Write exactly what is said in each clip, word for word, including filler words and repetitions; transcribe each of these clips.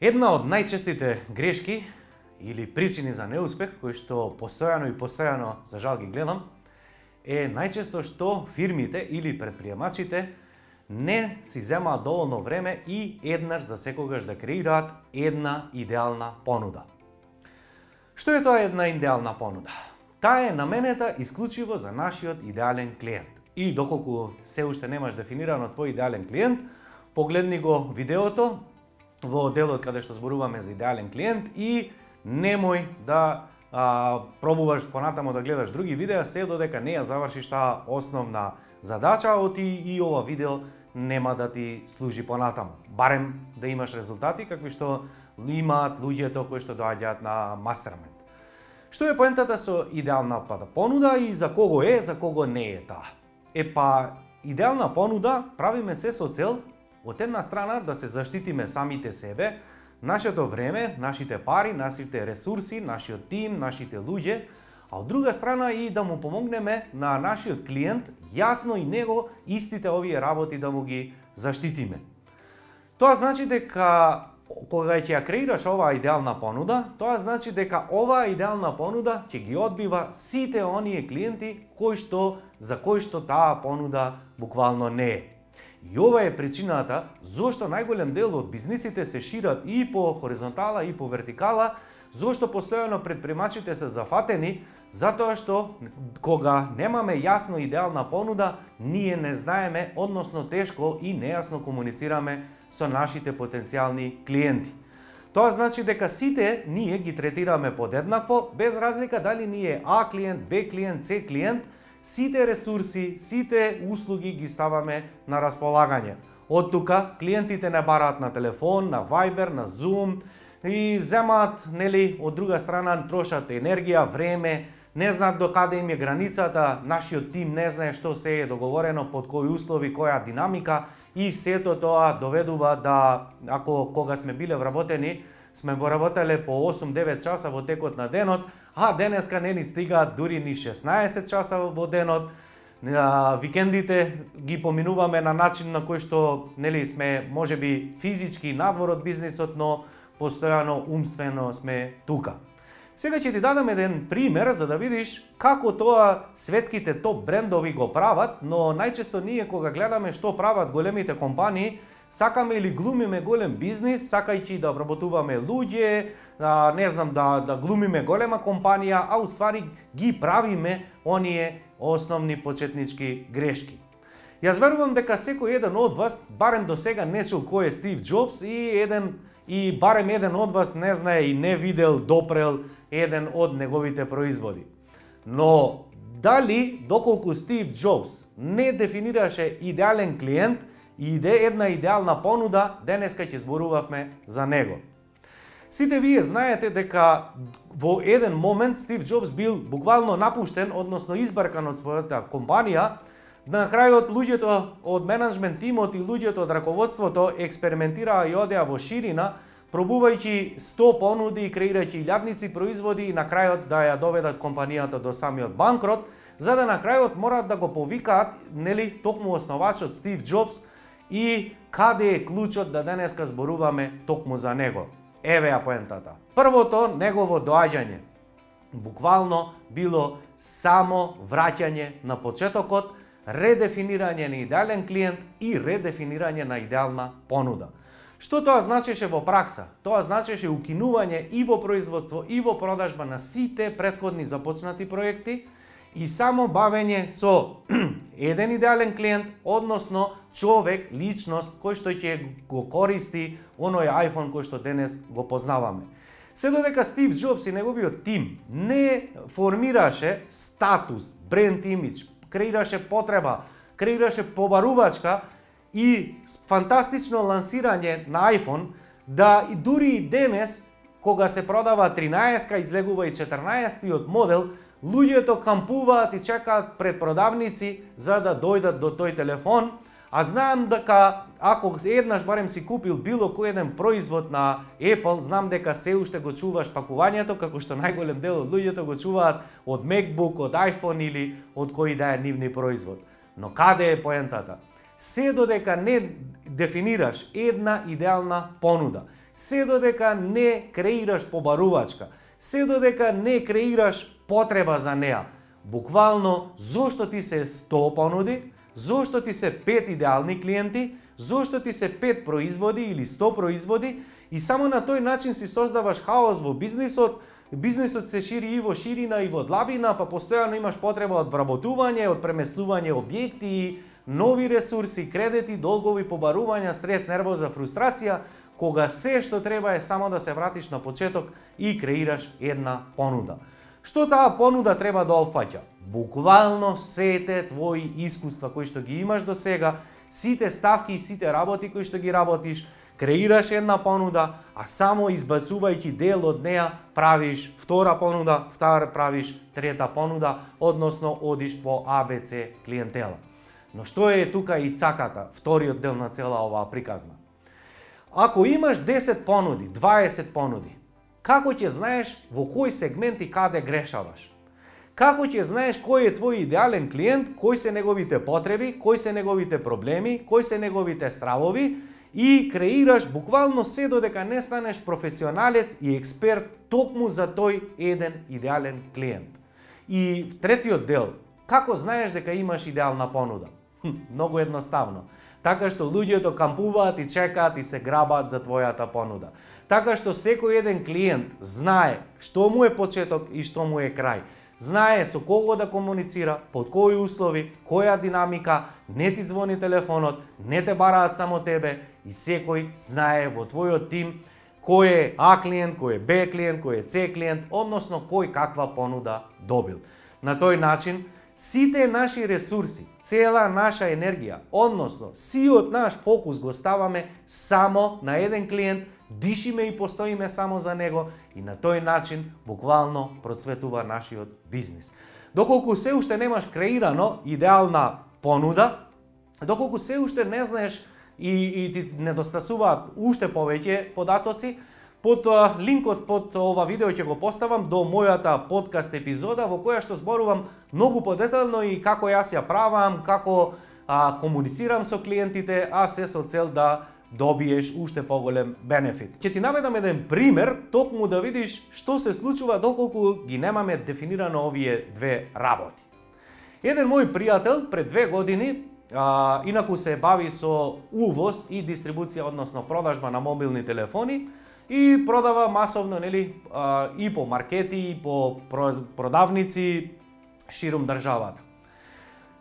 Една од најчестите грешки или причини за неуспех, кои што постојано и постојано за жал ги гледам, е најчесто што фирмите или предприемачите не си земаат доволно време и еднаш за секогаш да креираат една идеална понуда. Што е тоа една идеална понуда? Таа е наменета исклучиво за нашиот идеален клиент. И доколку се уште немаш дефинирано твој идеален клиент, погледни го видеото во делот каде што зборуваме за идеален клиент и немој да а, пробуваш понатамо да гледаш други видеа се додека не ја завршиш таа основна задача, оти и ова видео нема да ти служи понатаму. Барем да имаш резултати какви што имаат луѓето кои што доаѓаат на мастермајнд. Што е поентата со идеалната понуда и за кого е, за кого не е таа? Е па, идеална понуда правиме се со цел од една страна да се заштитиме самите себе, нашето време, нашите пари, нашите ресурси, нашиот тим, нашите луѓе, а од друга страна и да му помогнеме на нашиот клиент јасно и него истите овие работи да му ги заштитиме. Тоа значи дека кога ќе ја креираш оваа идеална понуда, тоа значи дека оваа идеална понуда ќе ги одбива сите оние клиенти кои што за кои што таа понуда буквално не е. И ова е причината зошто најголем дел од бизнисите се шират и по хоризонтала и по вертикала, зошто постојано предприемачите се зафатени, затоа што кога немаме јасно идеална понуда, ние не знаеме, односно тешко и нејасно комуницираме со нашите потенцијални клиенти. Тоа значи дека сите ние ги третираме подеднакво, без разлика дали ни е А клиент, Б клиент, С клиент, сите ресурси, сите услуги ги ставаме на располагање. Од тука клиентите не бараат на телефон, на Viber, на Zoom и земаат, нели, од друга страна трошат енергија, време, не знаат до каде им е границата, нашиот тим не знае што се е договорено, под кои услови, која динамика и сето тоа доведува да, ако кога сме биле вработени, сме вработеле по осум-девет часа во текот на денот, а денеска не ни стигаат дури ни шеснаесет часа во денот. Викендите ги поминуваме на начин на кој што нели сме можеби физички надвор од бизнисот, но постојано умствено сме тука. Сега ќе ти дадам еден пример за да видиш како тоа светските топ брендови го прават, но најчесто ние кога гледаме што прават големите компании, сакаме или глумиме голем бизнис, сакајќи да вработуваме луѓе, да, не знам, да, да глумиме голема компанија, а уствари ги правиме оние основни почетнички грешки. Јас верувам дека секој еден од вас, барем до сега не чул кој е Стив Џобс и еден и барем еден од вас не знае и не видел, допрел еден од неговите производи. Но дали доколку Стив Џобс не дефинираше идеален клиент и иде една идеална понуда, денеска ќе зборувавме за него. Сите вие знаете дека во еден момент Стив Џобс бил буквално напуштен, односно избаркан од својата компанија. На крајот луѓето од менеджмент тимот и луѓето од раководството експериментираа и одеа во ширина, пробувајќи сто понуди и креирајќи илјадници производи и на крајот да ја доведат компанијата до самиот банкрот, за да на крајот мораат да го повикаат, нели, токму основачот Стив Џобс и каде е клучот да денеска зборуваме токму за него. Еве ја поентата. Првото негово доаѓање буквално било само враќање на почетокот, редефинирање на идеален клиент и редефинирање на идеална понуда. Што тоа значеше во пракса? Тоа значеше укинување и во производство и во продажба на сите претходни започнати проекти и само бавење со еден идеален клиент, односно човек, личност кој што ќе го користи оној iPhone кој што денес го познаваме. Се додека Стив Џобс и неговиот тим не формираше статус, бренд имидж, креираше потреба, креираше побарувачка и фантастично лансирање на iPhone, да и дури и денес, кога се продава тринаесетка, излегува и четрнаесеттиот модел, луѓето кампуваат и чекаат пред продавници за да дојдат до тој телефон, а знаам дека ако еднаш барем си купил било кој еден производ на Apple, знам дека се уште го чуваш пакувањето, како што најголем дел од луѓето го чуваат од MacBook, од iPhone или од кој да е нивни производ. Но каде е поентата? Се додека не дефинираш една идеална понуда, се додека не креираш побарувачка, се додека не креираш потреба за неа. Буквално, зошто ти се сто понуди, зошто ти се пет идеални клиенти, зошто ти се пет производи или сто производи и само на тој начин си создаваш хаос во бизнисот. Бизнисот се шири и во ширина и во длабина, па постојано имаш потреба од вработување, од преместување објекти, нови ресурси, кредити, долгови, побарувања, стрес, нервоза, фрустрација, кога се што треба е само да се вратиш на почеток и креираш една понуда. Што таа понуда треба да опфаќа? Буквално сите твои искуства кои што ги имаш до сега, сите ставки и сите работи кои што ги работиш, креираш една понуда, а само избацувајќи дел од неа правиш втора понуда, втора правиш трета понуда, односно одиш по А Б Ц клиентела. Но што е тука и цаката, вториот дел на цела оваа приказна? Ако имаш десет понуди, дваесет понуди, како ќе знаеш во кој сегмент и каде грешаваш? Како ќе знаеш кој е твој идеален клиент, кои се неговите потреби, кои се неговите проблеми, кои се неговите стравови и креираш буквално се додека не станеш професионалец и експерт токму за тој еден идеален клиент. И третиот дел, како знаеш дека имаш идеална понуда? Хм, многу едноставно. Така што луѓето кампуваат и чекаат и се грабаат за твојата понуда. Така што секој еден клиент знае што му е почеток и што му е крај. Знае со кого да комуницира, под кои услови, која динамика, не ти звони телефонот, не те бараат само тебе и секој знае во твојот тим кој е А клиент, кој е Б клиент, кој е С клиент, односно кој каква понуда добил. На тој начин, сите наши ресурси, цела наша енергија, односно сиот наш фокус го ставаме само на еден клиент, дишиме и постоиме само за него и на тој начин буквално процветува нашиот бизнис. Доколку се уште немаш креирано идеална понуда, доколку се уште не знаеш и, и ти недостасуваат уште повеќе податоци, под линкот под ова видео ќе го поставам до мојата подкаст епизода во која што зборувам многу подетално и како јас ја правам, како а, комуницирам со клиентите, а се со цел да добиеш уште поголем бенефит. Ќе ти наведам еден пример, токму да видиш што се случува доколку ги немаме дефинирано овие две работи. Еден мој пријател пред две години, а, инаку се бави со увоз и дистрибуција, односно продажба на мобилни телефони, и продава масовно, нели, а, и по маркети, и по продавници ширум државата.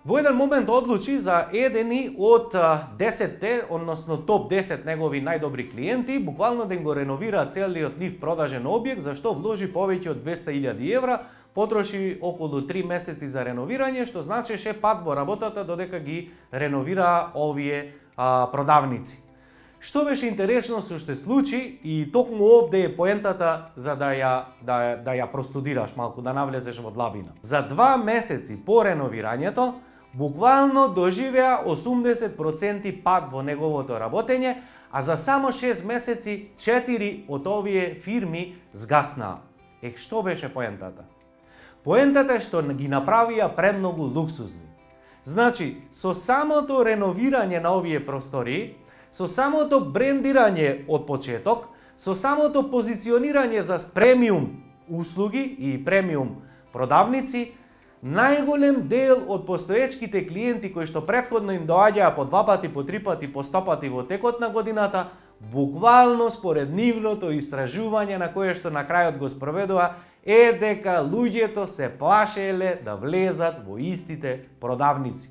Во еден момент одлучи за едени од десетте, односно топ десет негови најдобри клиенти, буквално да им го реновира целиот нив продажен објект, за што вложи повеќе од двесте илјади евра, потроши околу три месеци за реновирање, што значеше пат во работата додека ги реновира овие а, продавници. Што беше интересно што се случи и токму овде е поентата за да ја да, да ја простудираш малку, да навлезеш во длабина. За два месеци по реновирањето буквално доживеа осумдесет проценти пад во неговото работење, а за само шест месеци четири од овие фирми згаснаа. Е, што беше поентата? Поентата е што ги направија премногу луксузни. Значи, со самото реновирање на овие простории, со самото брендирање од почеток, со самото позиционирање за премиум услуги и премиум продавници, најголем дел од постоечките клиенти кои што претходно им доаѓаа по два пати, по три пати, по сто пати во текот на годината, буквално според нивното истражување на кое што на крајот го спроведува, е дека луѓето се плашеле да влезат во истите продавници.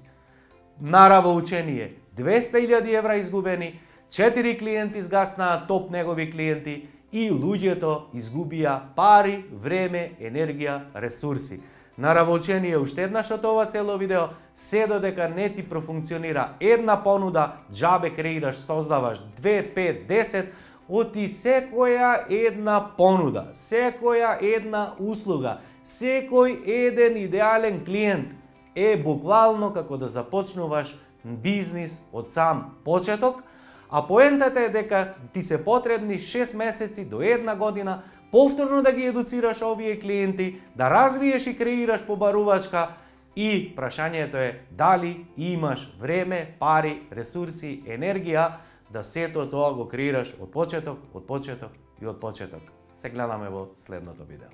Наравоучение, двесте илјади евра изгубени, четири клиенти згаснаа, топ негови клиенти, и луѓето изгубија пари, време, енергија, ресурси. Наравоучение уште еднаш од ова цело видео, се додека не ти профункционира една понуда, џабе креираш, создаваш две, пет, десет, оти секоја една понуда, секоја една услуга, секој еден идеален клиент е буквално како да започнуваш бизнис од сам почеток, а поентата е дека ти се потребни шест месеци до една година повторно да ги едуцираш овие клиенти, да развиеш и креираш побарувачка и прашањето е дали имаш време, пари, ресурси, енергија да сето тоа го креираш од почеток, од почеток и од почеток. Се гледаме во следното видео.